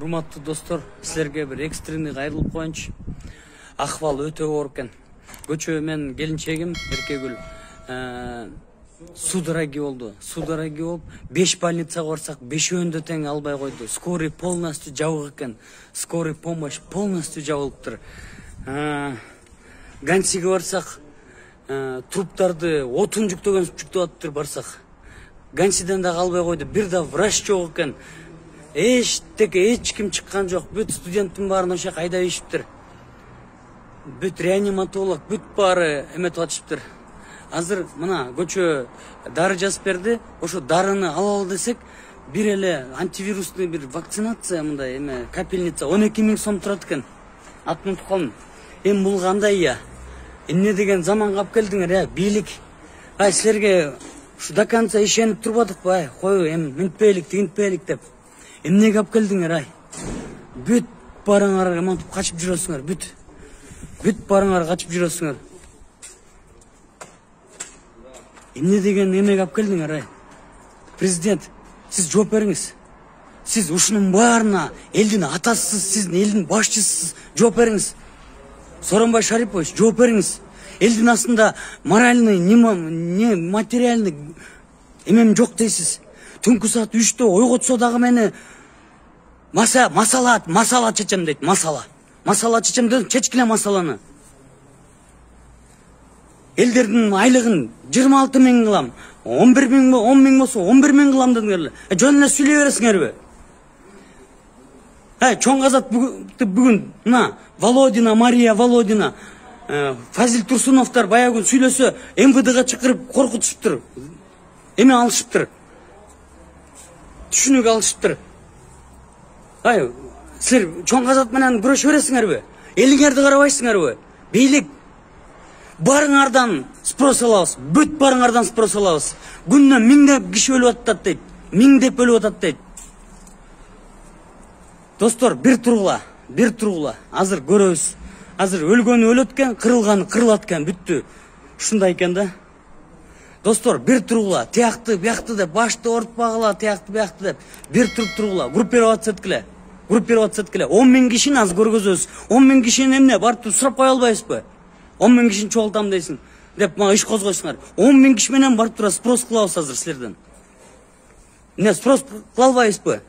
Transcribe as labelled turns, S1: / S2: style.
S1: Урматтуу достор, силерге бир экстренный кайрылып коеюнчу. Акыбал өтө оор экен. Көчө мен келинчегим Эркегүл судороги болду. Судороги болуп 5 больницага барсак 5-өндө тең албай койду. Скорый полностью жабык экен. Скорый помощь полностью жабылыптыр. Гансиге барсак труптарды отун жүктөп атыптыр барсак. Гансиден да калбай койду. Бир да врач жок экен. Эч ким чыккан жок. Бүт студенттин баарын ошо кайда ийишиптир. Бүт реаниматолог, бүт баары эметип атышыптыр. Азыр мына көчө дары жазып берди. Ошо дарыны алалы десек, бир эле антивирусный бир вакцинация мындай эме капельница 12 000 сом турат экен. Атын унутуп калдым. Эми бул кандай я? Эмне деген заманга алып келдиңер, бийлик. Силерге ушу до конца ишенип турбадыкпы, кой эми мынтпейлик, тигинтпейлик деп. Эмнеге алып келдиңер, Бүт барыңар эмантип качып жүрөсүңөр, бүт барыңар качып жүрөсүңөр. Эмне деген эмеге алып келдиңер, Президент, сиз жооп бериңиз. Сиз ушунун баарына элдин атасысыз, сиз элдин башчысысыз, жооп бериңиз. Сооронбай Шарипович, жооп бериңиз. Элдин астында моральный, не материальный эмем жок дейсиз. Түнкү саат 3-тө ойготсо дагы мени масала чечем дейт, масала чечем дейт, чечкиле масаланы. Элдердин айлыгын 26 000 кылам, 11 000, 10 000 болсо 11 000 кылам дедиңер. Жөн эле сүйлөй бересиңерби? Чоң казат бүгүн мына Володина, Мария Володина, Фазил Турсуновдор баягы сүйлөсө МВДга чакырып коркутушуптур. Эме алышыптыр. Түшүнүк алышыптыр. Силер чоң казат менен күрөшө бересиңерби? Элиңерди карабайсыңарбы? Бийлик, барыңардан спрос алабыз, бүт барыңардан спрос алабыз. Күнүнө 1000 киши өлүп атат дейт. 1000 деп өлүп атат дейт. Достор, бир тургула. Азыр көрөбүз. Азыр өлгөнү өлөт экен, кырылганы кырылат экен, бүттү. Ушундай экен да. Достор, бир тургула, тиякты, биякты деп, башты ортпагыла, тиякты, биякты деп, бир тургула, группироваться эткиле. 10 000 кишини аз көргөзөбүз. 10 000 кишини эмне, барып сурап кое албайбызбы? 10 000 кишини чогултам дейсиң деп мага иш козгойсуңар. 10 000 киши менен барып тура спрос кылабыз азыр силерден. Эмне спрос кыла албайбызбы?